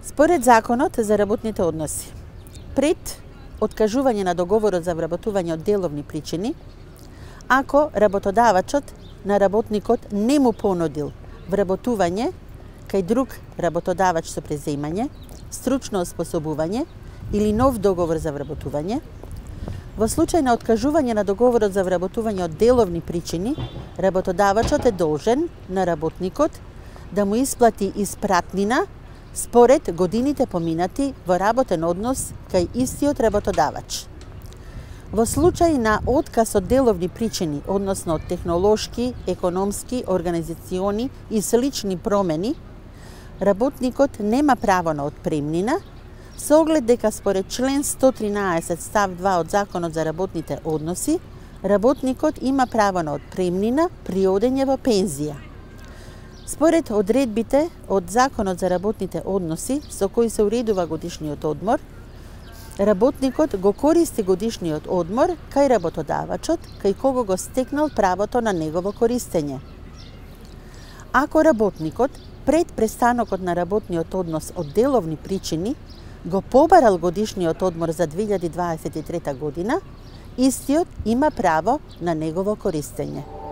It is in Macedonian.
Според Законот за работните односи, пред откажување на договорот за вработување од деловни причини, ако работодавачот на работникот не му понудил вработување кај друг работодавач со преземање, стручно оспособување или нов договор за вработување, во случај на откажување на договорот за вработување од деловни причини, работодавачот е должен на работникот да му исплати испратнина според годините поминати во работен однос кај истиот работодавач. Во случај на отказ од деловни причини, односно од технолошки, економски, организациони и слични промени, работникот нема право на отпремнина, со оглед дека според член 113 став 2 од Законот за работните односи, работникот има право на отпремнина при одење во пензија. Според одредбите од Законот за работните односи, со кои се уредува годишниот одмор, работникот го користи годишниот одмор кај работодавачот, кај кого го стекнал правото на негово користење. Ако работникот пред престанокот на работниот однос од деловни причини го побарал годишниот одмор за 2023 година, истиот има право на негово користење.